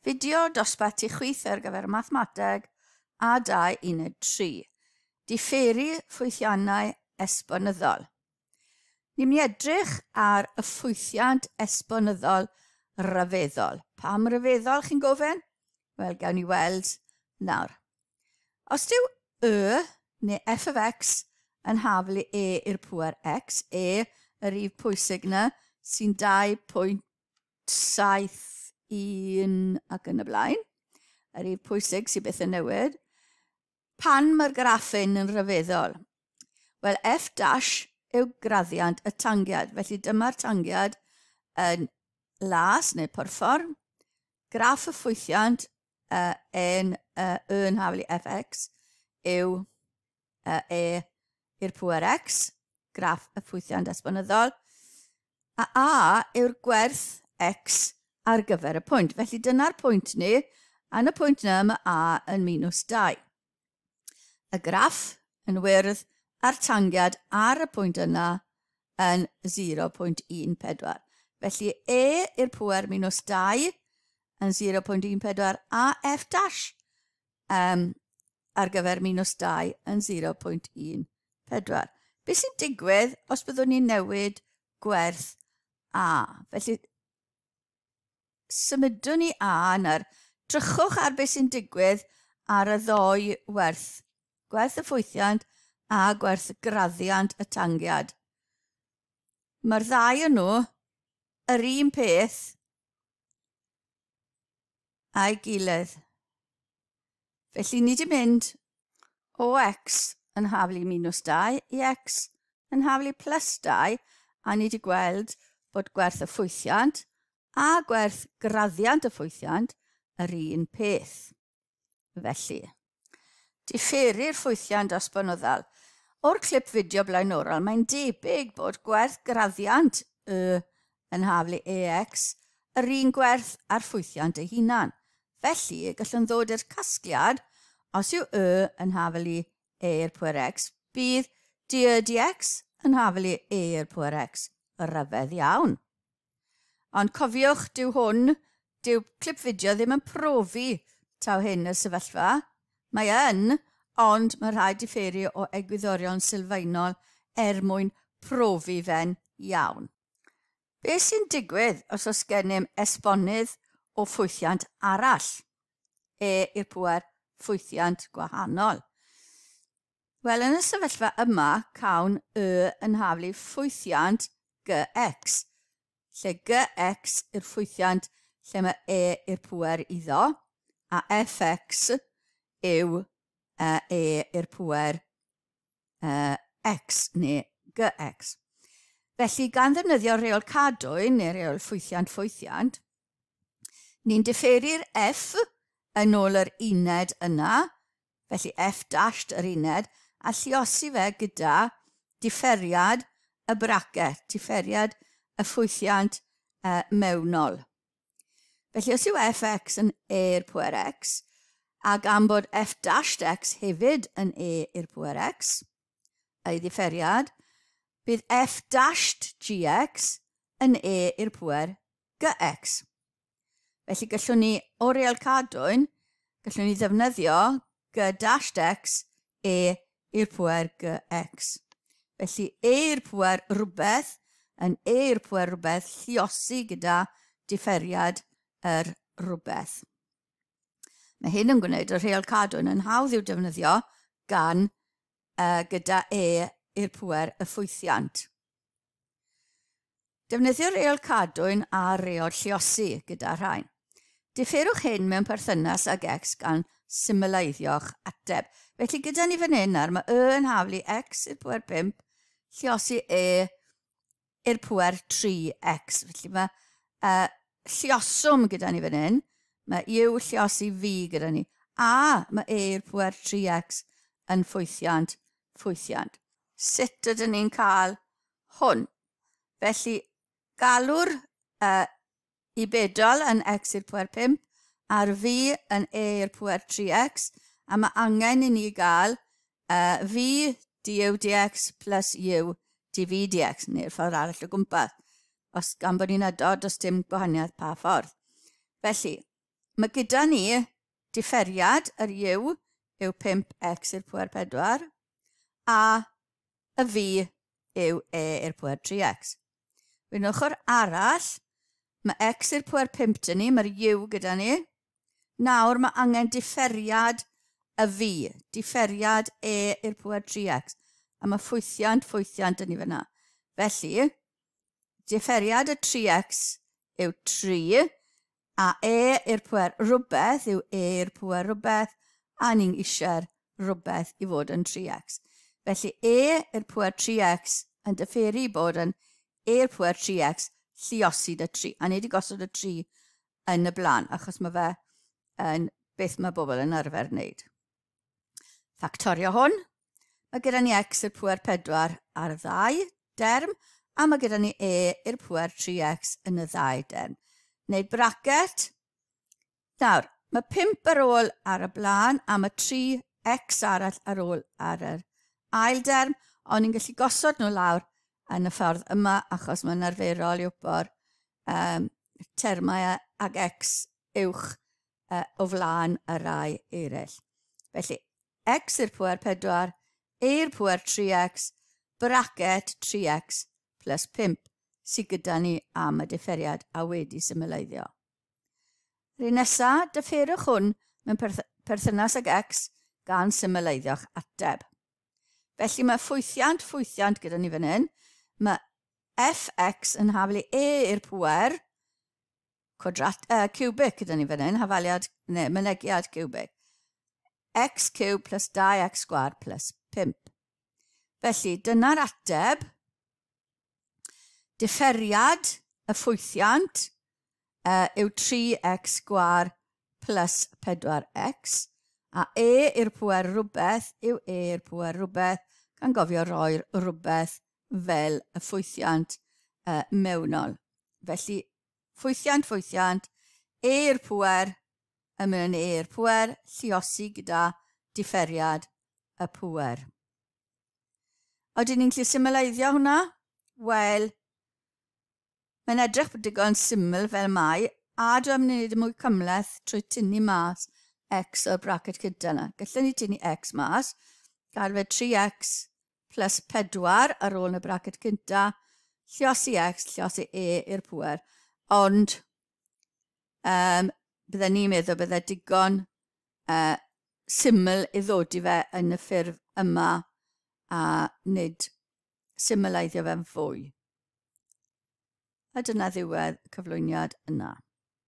Fideo dosbarth tu chwith ar gyfer mathemateg A2 uned 3. Diferu ffwythiannau esbonyddol. Ni'n mynd i edrych ar y ffwythiant esbonyddol rhyfeddol. Pam rhyfeddol, chi'n gofyn? Wel, gawn ni weld nawr. Os dyw y neu f of x yn haflu e i'r pŵer x, e, y rif pwysig yna, sy'n 2.71 ac yn y blaen, y rif pwysig sy'n byth yn newid, pan mae'r graffin yn rhyfeddol? Wel, f dash yw graddiant y tangiad, felly dyma'r tangiad yn las neu porffor, graff y ffwythiant n, y yn haflu fx yw e i'r pŵer x, graff y ffwythiant esbonyddol, a a yw'r gwerth x ar gyfer y pwynt. Felly dyna'r pwynt ni, a yn y pwynt yna mae a yn minus 2. Y graff yn wyrdd a'r tangiad ar y pwynt yna yn 0.14. Felly e i'r pŵer minus 2 yn 0.14 a f dash ar gyfer minus 2 yn 0.14. Beth sy'n digwydd os byddwn ni'n newid gwerth a? Felly symudwn ni a nawr. Drychwch ar beth sy'n digwydd ar y ddou werth. Gwerth y ffwythiant a gwerth graddiant y tangiad. Mae'r ddau o'n nhw yr un peth a'i gilydd. Felly ni wedi mynd o x yn haflu minus 2 i x yn haflu plus 2, a ni wedi gweld bod gwerth y ffwythiant a gwerth graddiant y ffwythiant yr un peth. Felly, diferu'r ffwythiant esbonyddol. O'r clip fideo blaenorol, mae'n debyg bod gwerth graddiant y yn haflu AX yr un gwerth a'r ffwythiant ei hunan. Felly, gallwn ddod i'r casgliad, os yw y yn haflu e i'r pwer x, bydd dy dx yn haflu e i'r pwer x. Rhyfedd iawn. Ond cofiwch, dyw hwn, dyw clip fideo ddim yn profi taw hyn y sefyllfa. Mae yn, ond mae rhaid diferu o egwyddorion sylfaenol er mwyn profi fe'n iawn. Beth sy'n digwydd os oes gennym esbonydd o ffwythiant arall? E i'r pŵer ffwythiant gwahanol. Wel, yn y sefyllfa yma, cawn y yn haflu ffwythiant gx, lle gx yw'r ffwythiant lle mae e i'r pŵer iddo, a fx yw e i'r pŵer x neu gx. Felly, gan ddefnyddio reol cadwyn neu reol ffwythiant ffwythiant, ni'n diferu'r f yn ôl yr uned yna, felly f dashed yr uned, a lluosi fe gyda diferiad y bracet, diferiad y ffwythiant mewnol. Felly, os yw fx yn e i'r pŵer x, a gan bod f dashed x hefyd yn e i'r pŵer x, ei ddiferiad, bydd f dashed gx yn e i'r pŵer gx. Felly gallwn ni, o reol cadwyn, gallwn ni ddefnyddio g dashed x e i'r pŵer gx. Felly e i'r pŵer rhywbeth yn e i'r pŵer rhywbeth lluosi gyda diferiad yr rhywbeth. Mae hyn yn gwneud y rheol cadwyn yn hawdd i'w defnyddio gan gyda e i'r pŵer y ffwythiant. Defnyddio reol cadwyn a reol lluosi gyda rhain. Diferwch hyn mewn perthynas ag x gan symleiddio'ch ateb. Felly gyda ni fan hyn nawr, mae y yn haflu x i'r pŵer 5, lluosi e i'r pŵer 3x. Felly mae lluoswm gyda ni fan hyn, mae u lluosi v gyda ni, a mae e i'r pŵer 3x yn ffwythiant, ffwythiant. Sut ydyn ni'n cael hwn? Felly, galw'r i bedol yn x i'r pŵer 5 a'r v yn e i'r pŵer 3x, a mae angen i ni gael v du dx plus u dv dx, neu'r ffordd arall o gwmpas. Os gan bod ni'n adod, does dim gwahaniaeth pa ffordd. Felly, Mae gyda ni differiad yr u yw 5x i'r pwer 4 a y v yw e i'r pwer 3x. Wedyn ochr arall, mae x i'r pwer 5 dyn ni, mae'r u gyda ni. Nawr mae angen differiad y v, differiad e i'r pwer 3x. A mae ffwythiant, ffwythiant dyn ni fyna. Felly, differiad y 3x yw 3, a e i'r pwer rhywbeth yw e i'r pwer rhywbeth, a ni'n eisiau'r rhywbeth i fod yn 3x. Felly e i'r pwer 3x yn differu bod yn e i'r pwer 3x lluosi 'da 3. A ni wedi gosod y 3 yn y blaen, achos mae fe yn beth mae bobl yn arfer wneud. Ffactorio hwn, mae gyda ni x i'r pwer 4 ar y ddau derm, a mae gyda ni e i'r pwer 3x yn y ddau derm. Wneud bracet. Nawr, mae 5 ar ôl ar y blaen, a mae 3x arall ar ôl ar yr ail derm, ond ni'n gallu gosod nhw lawr yn y ffordd yma, achos mae'n arferol i wybod termau ag x uwch o flaen y rai eraill. Felly, x i'r pwer 4, e i'r pwer 3x, bracet 3x plus 5 sydd gyda ni am y differiad a wedi symleiddio. Yr un nesaf, differwch hwn mewn perthynas ag x gan symleiddio'ch ateb. Felly mae ffwythiant, ffwythiant gyda ni fan hyn. Mae fx yn haflu e i'r pwer cwadrat, cubic gyda ni fan hyn, hafaliad, neu mynegiad cubic. X cube plus 2x sgwâr plus 5. Felly, dyna'r ateb. Differiad y ffwythiant yw 3x sgwâr plus 4x, a e i'r pwer rhywbeth yw e i'r pwer rhywbeth, gan gofio roi'r rhywbeth fel y ffwythiant mewnol. Felly, ffwythiant, ffwythiant, e i'r pwer, yn mynd yn e i'r pwer, lluosi gyda differiad y pwer. Oedden ni'n gallu symleiddio hwnna? Wel, mae'n edrych bod digon syml fel mai, a dwi'n mynd i wneud y mwy cymhleth trwy tynnu mas x o'r bracet gyda yna. Gallwn ni tynnu x mas, gael fe 3x plus 4 ar ôl yn y bracet cynta, lluosi x, lluosi e i'r pwer, ond bydden ni'n meddwl bydde digon syml i ddod i fe yn y ffurf yma a nid symleiddio fe'n fwy. A dyna ddiwedd y cyflwyniad yna.